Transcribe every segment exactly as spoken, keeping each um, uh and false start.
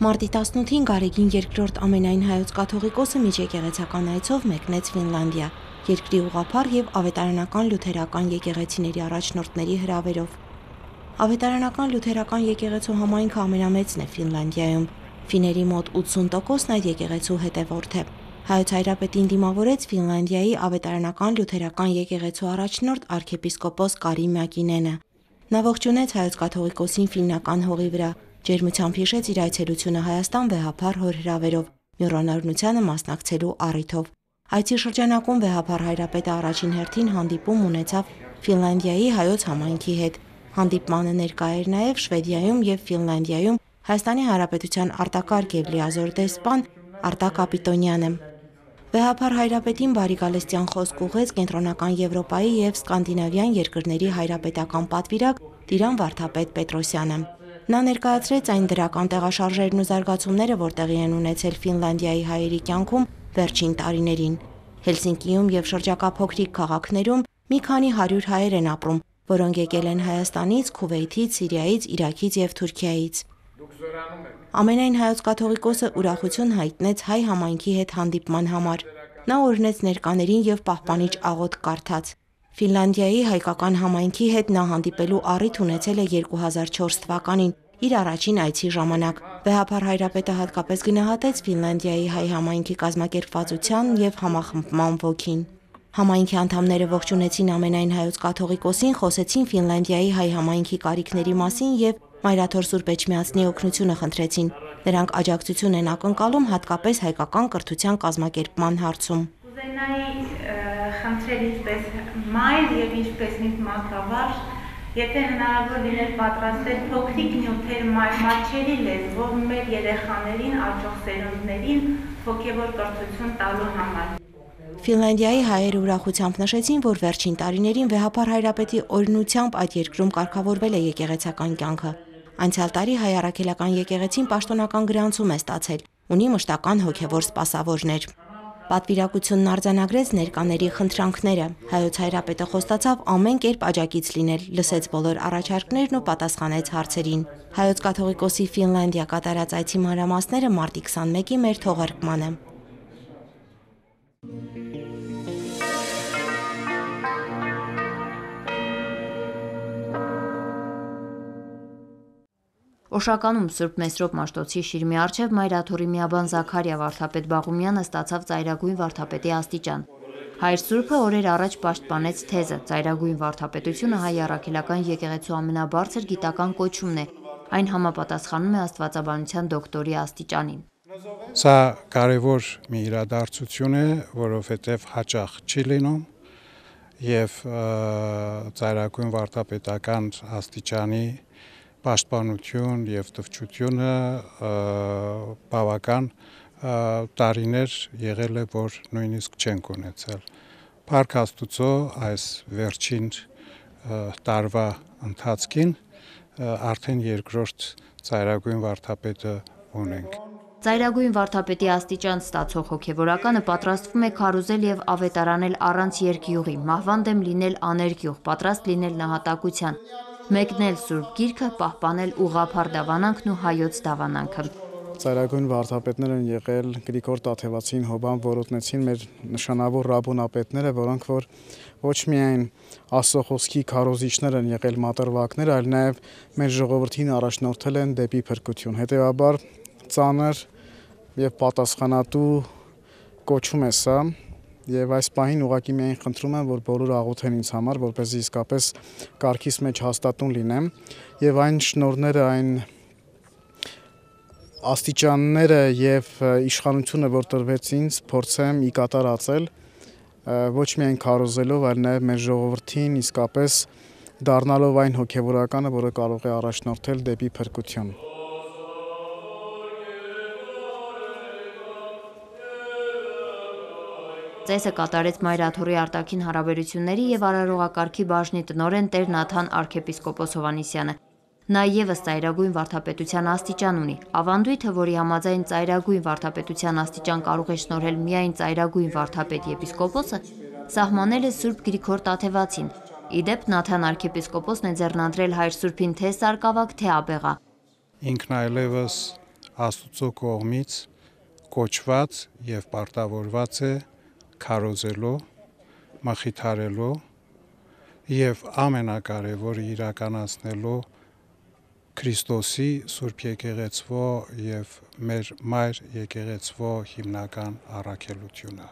Մարտի տասնութին Գարեգին երկրորդ ամենայն հայոց կաթողիկոսը միջեկեղեցական այցով մեկնեց Ֆինլանդիա, երկրի ուղղափառ եւ ավետարանական լյութերական եկեղեցիների առաջնորդների հրավերով։ Ավետարանական լյութերական եկեղեցու համայնքը ամենամեծն է Ֆինլանդիայում։ Ֆիների մոտ ութսուն տոկոսն այդ եկեղեցու հետևորդ է։ Հայոց Հայրապետին դիմավորեց Ֆինլանդիայի ավետարանական լյութերական եկեղեցու առաջնորդ արքեպիսկոպոս Կարի Մակինենը։ Նա ողջունեց հայոց կաթողիկոսին ֆիննական հողի վրա, ջերմությամբ հիշեց իր այցելությունը Հայաստան վեհափառ հոր հրավերով, մյուրօրինությանը մասնակցելու առիթով։ Այցի շրջանակում վեհափառ հայրապետը առաջին հերթին հանդիպում ունեցավ Ֆինլանդիայի հայոց համայնքի հետ։ Հանդիպմանը ներկա էր նաև Շվեդիայում եւ Ֆինլանդիայում Հայաստանի Հանրապետության արտակարգ եւ լիազոր դեսպան Արտակ Կապիտոնյանը։ Վեհափառ հայրապետին բարիգալստյան խոսք ուղղեց Կենտրոնական Եվրոպայի եւ Սկանդինավյան երկրների հայրապետական պատվիրակ Տիրան Վարդապետ Պետրոսյանը։ Նա ներկայացրեց այն դրական տեղաշարժերն ու զարգացումները, որ տեղի են ունեցել Ֆինլանդիայի հայերի կյանքում վերջին տարիներին։ Հելսինկիում եւ շրջակա փոքրիկ քաղաքներում մի քանի հարյուր հայեր են ապրում, որոնք եկել են Հայաստանից, Քուվեյթից, Սիրիայից, Իրաքից եւ Թուրքիայից։ Ամենայն հայոց կաթողիկոսը ուրախություն հայտնեց հայ համայնքի հետ հանդիպման համար։ Նա օրհնեց ներկաներին եւ պահպանիչ աղոթք կարդաց։ Ֆինլանդիայի հայկական համայնքի հետ նա հանդիպելու առիթ ունեցել է երկու հազար չորս թվականին իր առաջին այցի ժամանակ։ Վեհափառ հայրապետը հատկապես գնահատեց Ֆինլանդիայի հայ համայնքի կազմակերպվածության եւ համախմբման ոգին։ Համայնքի անդամները ողջունեցին ամենայն հայոց կաթողիկոսին, խոսեցին Ֆինլանդիայի հայ համայնքի կարիքների մասին եւ Մայրաթոր Սուրբ Էջմիածնի օգնությունը խնդրեցին։ Նրանք աջակցություն են ակնկալում հատկապես հայկական կրթության կազմակերպման հարցում։ Կուզենայի խնդրել ինչպես մայր եւ ինչպես մի մանկավարժ, եթե հնարավոր լիներ պատրաստել փոքրիկ նյութեր մատչելի լեզվով մեր երեխաներին, աճող սերունդներին հոգեվոր կրթություն տալու համար։ Ֆինլանդիայի հայերը ուրախությամբ նշեցին, որ վերջին տարիներին վեհափառ հայրապետի օրհնությամբ այդ երկրում կարգավորվել է եկեղեցական կյանքը։ Անցյալ տարի հայ առաքելական եկեղեցին պաշտոնական գրանցում է ստացել, ունի մշտական հոգևոր սպասավորներ։ Պատվիրակությունն արձանագրեց ներկաների խնդրանքները։ Հայոց հայրապետը խոստացավ ամեն կերպ աջակից լինել, լսեց բոլոր առաջարկներն ու պատասխանեց հարցերին։ Հայոց կաթողիկոսի Ֆինլանդիա կատարած այցի մանրամասները մարտի քսանմեկի մեր թողարկմանը։ Օշականում Սուրբ Մեսրոպ Մաշտոցի շիրմի առջև Մայրաթորի միաբան Զաքարիա Վարդապետ Բաղումյանը ստացավ ծայրագույն վարդապետի աստիճան։ Հայր Սուրբը օրեր առաջ պաշտպանեց թեզը՝ ծայրագույն վարդապետությունը հայ առաքելական եկեղեցու ամենաբարձր գիտական կոչումն է, այն համապատասխանում է աստվածաբանության դոկտորի աստիճանին։ Սա կարևոր մի իրադարձություն է, որովհետև հաճախ չի լինում եւ ծայրագույն վարդապետական աստիճանի պաշտպանություն եւ տվչությունը բավական տարիներ եղել է, որ նույնիսկ չենք ունեցել։ Փառք Աստուծո, այս վերջին տարվա ընթացքին արդեն երկրորդ ծայրագույն վարդապետը ունենք։ Ծայրագույն վարդապետի աստիճան ստացող հոգևորականը պատրաստվում է քարոզել եւ ավետարանել առանց երկյուղի, մահվան դեմ լինել աներկյուղ, պատրաստ լինել նահատակության, մեկնել Սուրբ Գիրքը, պահպանել ուղղափառ դավանանքն ու հայոց դավանանքը։ Ծայրագույն վարդապետներ են եղել Գրիգոր Տաթևացին, Հոբան Որոտնեցին, մեր նշանավոր ռաբոնապետները, որոնք որ ոչ միայն Աստծո խոսքի քարոզիչներ են եղել մատրվակներ, այլ նաեւ մեր ժողովրդին առաջնորդել են դեպի փրկություն։ Հետևաբար ծանր եւ պատասխանատու կոչում է սա, եւ այս պահին ուղղակի միայն խնդրում եմ, որ բոլորը աղոթեն ինձ համար, որպեսզի իսկապես կարգիս մեջ հաստատուն լինեմ եւ այն շնորհները, այն աստիճանները եւ իշխանությունը, որ տրվեց ինձ, փորձեմ ի կատար ածել, ոչ միայն քարոզելով, այլ նաեւ մեր ժողովրդին իսկապես դառնալով այն հոգեվորականը, որը կարող է առաջնորդել դեպի փրկություն։ Ծեսը կատարեց Մայրաթորի արտաքին հարաբերությունների եւ արարողակարգի բաժնի տնօրեն Տեր Նաթան arczepiskopos Հովհաննիսյանը։ Նա եւս ծայրագույն վարդապետության աստիճան ունի։ Ավանդույթը, որի համաձայն ծայրագույն վարդապետության աստիճան կարող է շնորհել միայն ծայրագույն վարդապետ եպիսկոպոսը, սահմանել է Սուրբ Գրիգոր Տաթևացին։ Իդեպ Նաթան arczepiskopos-ն է ձեռնադրել հայր Սուրբին թե սարկավակ, թե աբեղա։ Ինքն այլևս Աստուծո կողմից կոչված եւ պարտավորված է քարոզելու, մխիթարելու եւ ամենակարևորը իրականացնելու Քրիստոսի Սուրբ Եկեղեցվո եւ մեր Մայր Եկեղեցվո հիմնական առաքելությունը։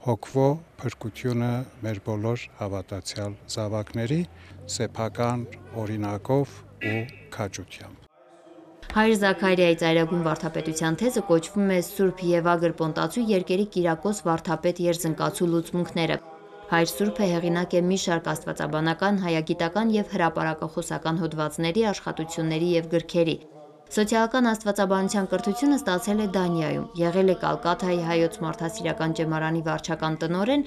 Հոգվո փրկությունը մեր բոլոր հավատացյալ զավակների սեփական օրինակով ու քաջությամբ։ Հայր Զաքարիայի ծայրագույն վարդապետության թեզը կոչվում է Սուրբ Եվագր Պոնտացու երկերի Կիրակոս վարդապետ Երզնկացու լուծմունքները։ Հայր Սուրբը հեղինակ է մի շարք աստվածաբանական, հայագիտական եւ հրապարակախոսական հոդվածների, աշխատությունների եւ գրքերի։ Սոցիալական աստվածաբանության կրթությունը ստացել է Դանիայում, եղել է Կալկաթայի հայոց մարդասիրական ճեմարանի վարչական տնօրեն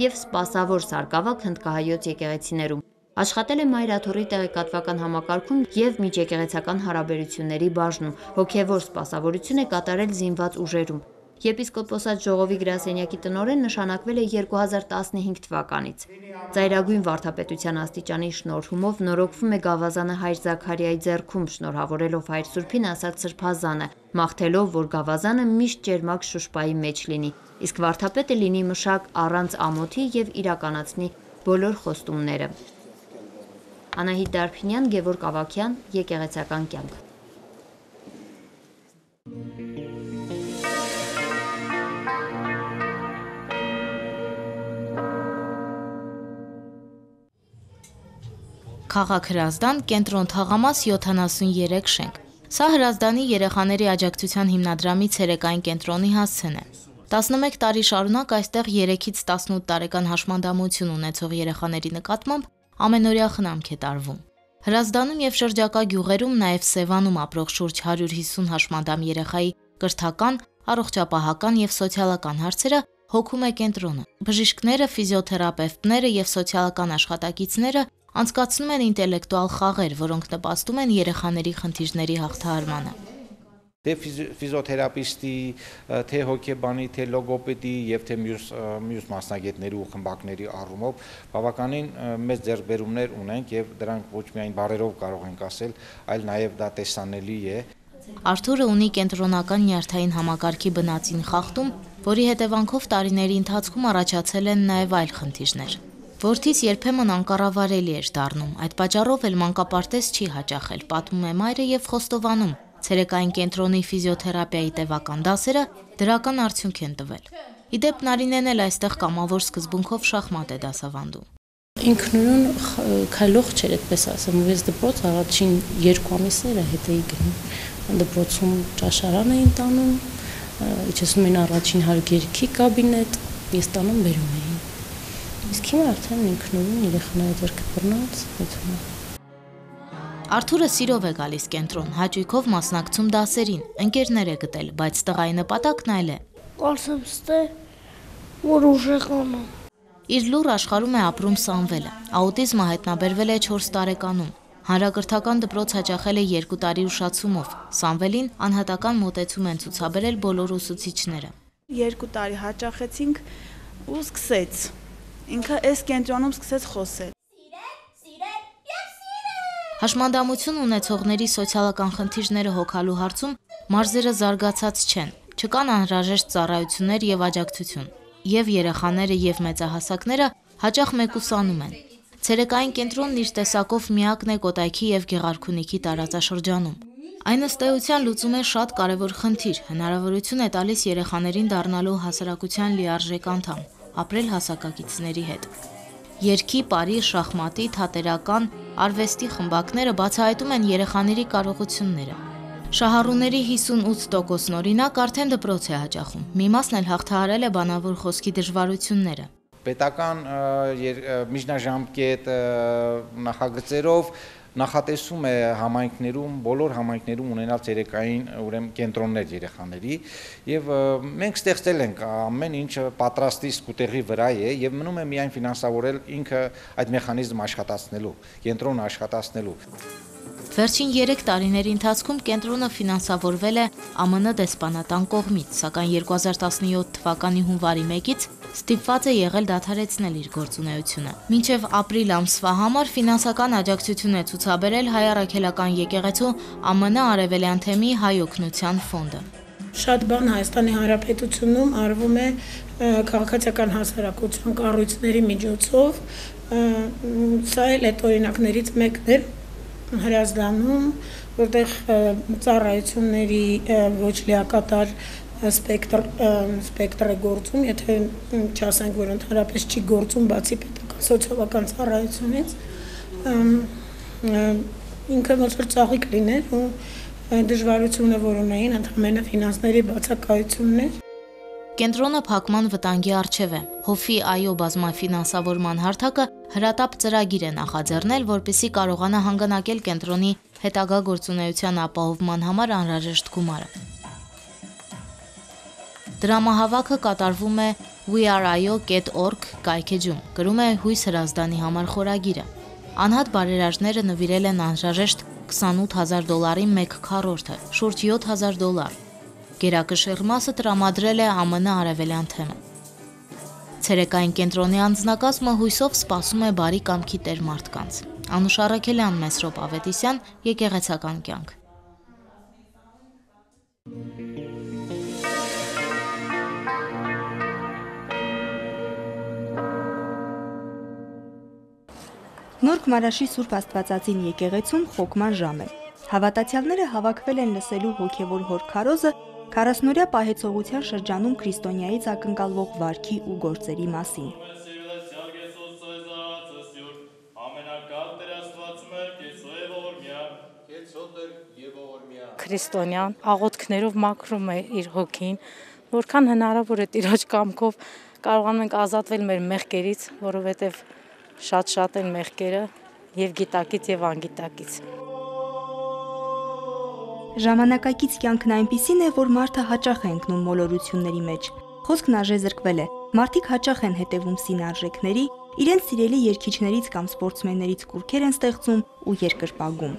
եւ սպասավոր սարկավակ հնդկահայոց եկեղեցիներում։ Աշխատել է Մայրաթորի տեղեկատվական համակարգում եւ միջեկեղեցական հարաբերությունների բաժնում, հոգեվոր սպասավորություն է կատարել զինված ուժերում։ Եպիսկոպոսատ ժողովի գրասենյակի տնօրեն նշանակվել է երկու հազար տասնհինգ թվականից։ Ծայրագույն վարդապետության աստիճանի շնորհումով նորոգվում է գավազանը Հայր Զաքարիայի ձեռքում, շնորհավորելով Հայր Սուրբին ասած սրբազանը, մաղթելով, որ գավազանը միշտ ճերմակ շուշպայի մեջ լինի, իսկ վարդապետը լինի մշակ առանց ամոթի եւ իրականացնի բոլոր խոստումները։ Անահիտ Դարփինյան, Գևորգ Ավագյան, Եկեղեցական կյանք։ Քաղաք Հրազդան, կենտրոն թաղամաս յոթանասուններեք շենք։ Սա Հրազդանի երեխաների աջակցության հիմնադրամի ցերեկային կենտրոնի հասցեն է։ տասնմեկ տարի շարունակ այստեղ երեքից տասնութ տարեկան հաշմանդամություն ունեցող երեխաների նկատմամբ ամենօրյա խնամք է տարվում։ Հրազդանում եւ շրջակա գյուղերում նաեւ Սևանում ապրող շուրջ հարյուր հիսուն հաշմանդամ երեխայի կրթական, առողջապահական եւ սոցիալական հարցերը հոգում է կենտրոնը։ Բժիշկները, ֆիզիոթերապևտները եւ սոցիալական աշխատակիցները անցկացնում են ինտելեկտուալ խաղեր, որոնք նպաստում են երեխաների խնդիրների հաղթահարմանը։ Թե ֆիզիոթերապիստի, թե հոգեբանի, թե լոգոպեդի եւ թե մյուս մյուս մասնագետների ու խմբակների առումով բավականին մեծ ձեռքբերումներ ունենք եւ դրանք ոչ միայն բառերով կարող ենք ասել, այլ նաեւ դա տեսանելի է։ Արթուրը ունի կենտրոնական նյարդային համակարգի բնածին խախտում, որի հետևանքով տարիների ընթացքում առաջացել են նաեւ այլ խնդիրներ։ Որդից երբեմն անկառավարելի էր դառնում, այդ պատճառով էլ մանկապարտեզ չի հաճախել, պատմում է մայրը եւ խոստովանում։ Ցերեկային կենտրոնի ֆիզիոթերապիայի տևական դասերը դրական արդյունք են տվել։ Իդեպ Նարինեն էլ այստեղ կամավոր սկզբունքով շախմատ է դասավանդում։ Ինքնուրույն քայլող չէր, այդպես ասեմ, ես դպրոց առաջին երկու ամիսները հետ էի գնում։ Դպրոցում ճաշարան էին տանում, իջեցնում էին առաջին հարգերքի կաբինետ, ես տանում բերում էի։ Իսկ հիմա արդեն ինքնուրույն երեխաների ձեռքը բռնած այդում է։ Արթուրը սիրով է գալիս կենտրոն, հաճույքով մասնակցում դասերին, ընկերներ է գտել, բայց տղայի նպատակն այլ է։ Կարծեմ ստե, որ ուժեղանա։ Իր լուր աշխարհում է ապրում Սամվելը։ Աուտիզմը հայտնաբերվել է չորս տարեկանում։ Հանրակրթական դպրոց հաճախել է երկու տարի ուշացումով։ Սամվելին անհատական մոտեցում են ցուցաբերել բոլոր ուսուցիչները։ Երկու տարի հաճախեցինք ու սկսեց։ Ինքը այս կենտրոնում սկսեց խոսել։ Հաշմանդամություն ունեցողների սոցիալական խնդիրները հոգալու հարցում մարզերը զարգացած չեն, չկան անհրաժեշտ ծառայություններ եւ աջակցություն, եւ երեխաները եւ մեծահասակները հաճախ մեկուսանում են։ Ցերեկային կենտրոնն իր տեսակով միակն է Կոտայքի եւ Գեղարքունիքի տարածաշրջանում։ Այն ըստ էության լուծում է շատ կարևոր խնդիր, հնարավորություն է տալիս երեխաներին դառնալու հասարակության լիարժեք անդամ, ապրել հասակակիցների հետ։ Երգի, պարի, շախմատի, թատերական, արվեստի խմբակները բացահայտում են երեխաների կարողությունները։ Շահառուների հիսունութ տոկոսն օրինակ արդեն դպրոց է հաճախում։ Մի մասն էլ հաղթահարել է բանավոր խոսքի դժվարությունները։ Պետական միջնաժամկետ նախագծերով նախատեսում է համայնքներում, բոլոր համայնքներում ունենալ ցերեկային ուրեմն կենտրոններ երեխաների եւ մենք ստեղծել ենք ամեն ինչը պատրաստի սկուտեղի վրա է եւ մնում է միայն ֆինանսավորել ինքը այդ մեխանիզմը աշխատացնելու, կենտրոնը աշխատացնելու։ Վերջին երեք տարիների ընթացքում կենտրոնը ֆինանսավորվել է ԱՄՆ դեսպանատան կողմից, սակայն երկու հազար տասնյոթ թվականի հունվարի մեկից ստիպված է եղել դադարեցնել իր գործունեությունը։ Մինչև ապրիլ ամսվա համար ֆինանսական աջակցություն է ցուցաբերել Հայ առաքելական եկեղեցու Ամն Արևելյան թեմի Հայ օգնության ֆոնդը։ Շատ բան Հայաստանի Հանրապետությունում արվում է քաղաքացիական հասարակության կառույցների միջոցով, սա էլ այդ օրինակներից մեկն է Հրազդանում, որտեղ ծառայությունների ոչ լիակատար սպեկտր սպեկտր է գործում, եթե չասենք, որ ընդհանրապես չի գործում բացի պետական սոցիալական ծառայությունից, ինքը ոնց որ ծաղիկ լիներ ու դժվարությունը, որ ունեին, ընդհանրապես ֆինանսների բացակայությունն էր։ Կենտրոնը փակման վտանգի առջև է։ Հովի այո բազմաֆինանսավորման հարթակը հրատապ ծրագիր է նախաձեռնել, որպեսզի կարողանա հանգանակել կենտրոնի հետագա գործունեության ապահովման համար անհրաժեշտ գումարը։ Դրամահավաքը կատարվում է we are i o dot org կայքեջում, գրում է Հույս Հրազդանի համար խորագիրը։ Անհատ բարերարները նվիրել են անհրաժեշտ քսանութ հազար դոլարի մեկ քառորդը, շուրջ յոթ հազար դոլար։ Գերակշիռ մասը տրամադրել է Ամն Արևելյան թեմը։ Ցերեկային կենտրոնի անձնակազմը հույսով սպասում է բարի կամքի տեր մարդկանց։ Անուշ Առաքելյան, Մեսրոպ Ավետիսյան, Եկեղեցական կյանք։ Նորք Մարաշի Սուրբ Աստվածածին եկեղեցում խոկման ժամ է։ Հավատացյալները հավաքվել են լսելու հոգևոր հոր քարոզը քառասնօրյա պահեցողության շրջանում քրիստոնյայից ակնկալվող վարքի ու գործերի մասին։ Քրիստոնյան աղոթքներով մաքրում է իր հոգին, որքան հնարավոր է Տիրոջ կամքով կարողանում ենք ազատվել մեր մեղքերից, որովհետև շատ-շատ են մեղքերը եւ գիտակից եւ անգիտակից։ Ժամանակակից կյանքն այնպիսին է, որ մարդը հաճախ է ընկնում մոլորությունների մեջ։ Խոսքն արժեզրկվել է։ Մարդիկ հաճախ են հետևում սինարժեքների, իրենց սիրելի երգիչներից կամ սպորտսմեններից կուրքեր են ստեղծում ու երկրպագում։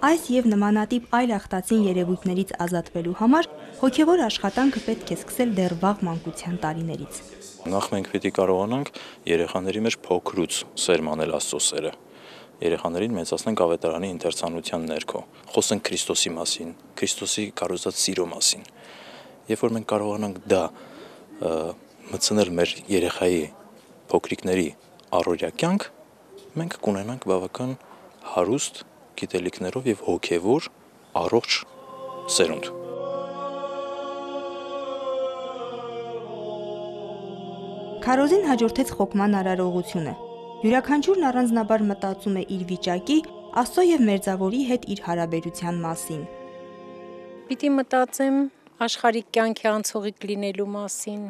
Այս եւ նմանատիպ այլ ախտածին երևույթներից ազատվելու համար հոգեվոր աշխատանքը պետք է սկսել դեռ վաղ մանկության տարիներից։ Նախ մենք պետք է կարողանանք երեխաների մեջ փոքրուց սերմանել Աստծո սերը։ Երեխաներին մեծացնենք ավետարանի ընթերցանության ներքո, խոսենք Քրիստոսի մասին, Քրիստոսի կառուցած սիրո մասին։ Երբ որ մենք կարողանանք դա մտցնել մեր երեխայի փոքրիկների առօրյա կյանք, մենք կունենանք բավական հարուստ գիտելիքներով եւ հոգեվոր առողջ սերունդ։ Քարոզին հաջորդեց խոկման արարողությունը։ Յուրաքանչյուրն առանձնաբար մտածում է իր վիճակի, Աստծո եւ մերձավորի հետ իր հարաբերության մասին։ Պիտի մտածեմ աշխարհիկ կյանքի անցողիկ լինելու մասին,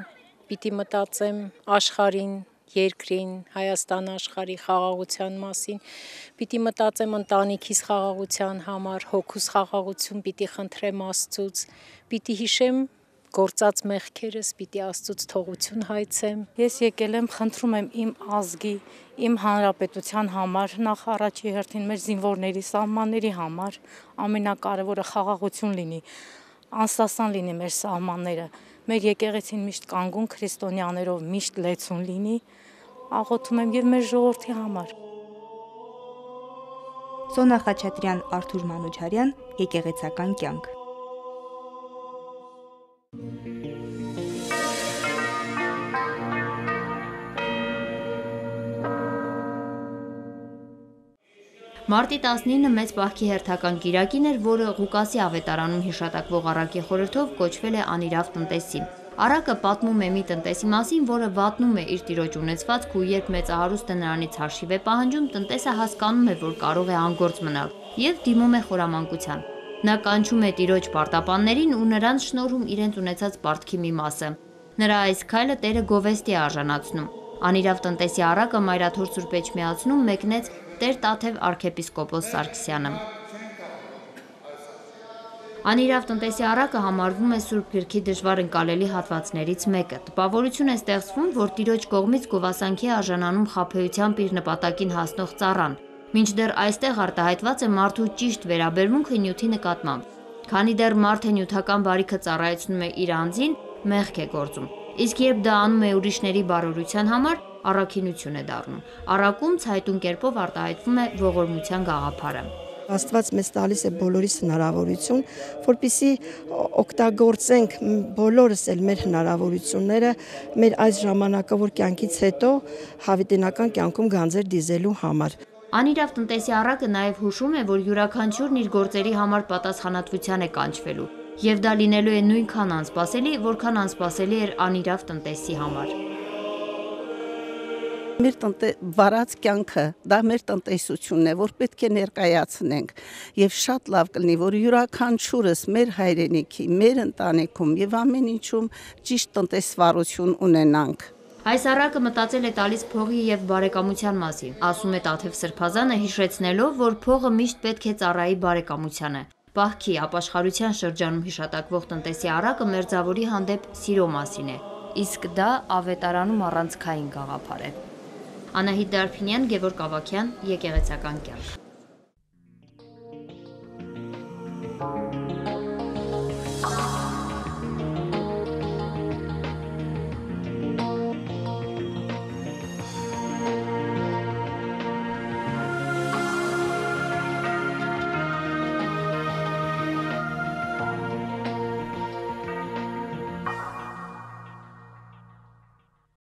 պիտի մտածեմ աշխարհին, երկրին, Հայաստան աշխարհի խաղաղության մասին, պիտի մտածեմ ընտանիքիս խաղաղության համար, հոգուս խաղաղություն պիտի խնդրեմ Աստծուց, պիտի հիշեմ գործած մեղքերս, պիտի Աստծուց թողություն հայցեմ։ Ես եկել եմ, խնդրում եմ իմ ազգի, իմ հանրապետության համար, նախ առաջի հերթին մեր զինվորների, սահմանների համար, ամենակարևորը խաղաղություն լինի, անսասան լինի մեր սահմանները, մեր եկեղեցին միշտ կանգուն քրիստոնյաներով միշտ լեցուն լինի, աղոթում եմ եւ մեր ժողովրդի համար։ Սոնա Խաչատրյան, Արթուր Մանուչարյան, Եկեղեցական կյանք։ Մարտի տասնինը մեծ պահքի հերթական կիրակին էր, որը Ղուկասի ավետարանում հիշատակվող առակի խորհրդով կոչվել է անիրավ տնտեսի։ Առակը պատմում է մի տնտեսի մասին, որը վատնում է իր տիրոջ ունեցվածքը ու երբ մեծահարուստը նրանից հաշիվ է պահանջում, տնտեսը հասկանում է, որ կարող է անգործ մնալ եւ դիմում է խորամանկության։ Նա կանչում է տիրոջ պարտապաններին ու նրանց շնորհում իրենց ունեցած պարտքի մի մասը։ Նրա այս քայլը Տերը գովեստի է արժանացնում։ Անիրավ տնտեսի առակը Մայրաթոր Սուրբ Էջմիածնում մեկնեց Տեր Տաթև arczepiskopos Սարգսյանը։ Անիրավ տնտեսի առակը համարվում է Սուրբ Գրքի դժվար ընկալելի հատվածներից մեկը։ Տպավորություն է ստեղծվում, որ Տիրոջ կողմից գովասանքի արժանանում խաբեությամբ իր նպատակին հասնող ծառան, մինչդեռ այստեղ արտահայտված է մարդու ճիշտ վերաբերմունքը նյութի նկատմամբ։ Քանի դեռ մարդը նյութական բարիքը ծառայեցնում է իր անձին, մեղք է գործում։ Իսկ երբ դա անում է ուրիշների բարօրության համար, առաքինություն է դառնում։ Առաքում ցայտուն կերպով արտահայտվում է ողորմության գաղափարը։ Աստված մեզ տալիս է բոլորիս հնարավորություն, որպեսզի օգտագործենք բոլորս էլ մեր հնարավորությունները մեր այս ժամանակավոր կյանքից հետո հավիտենական կյանքում գանձեր դիզելու համար։ Անիրավ տնտեսի առակը նաև հուշում է, որ յուրաքանչյուրն իր գործերի համար պատասխանատվության է կանչվելու, եւ դա լինելու է նույնքան անսպասելի, որքան անսպասելի էր անիրավ տնտեսի համար։ Մեր վարած կյանքը, դա մեր տնտեսությունն է, որ պետք է ներկայացնենք եւ շատ լավ կլինի, որ յուրաքանչյուրս մեր հայրենիքի, մեր ընտանիքում եւ ամեն ինչում ճիշտ տնտեսվարություն ունենանք։ Այս առակը մտածել է տալիս փողի եւ բարեկամության մասին, ասում է Տաթև Սրբազանը, հիշեցնելով, որ փողը միշտ պետք է ծառայի բարեկամությանը։ Պահքի, ապաշխարության շրջանում հիշատակվող տնտեսի առակը մերձավորի հանդեպ սիրո մասին է, իսկ դա ավետարանում առանցքային գաղափար է։ Անահիտ Դարփինյան, Գևորգ Ավագյան, Եկեղեցական կյանք։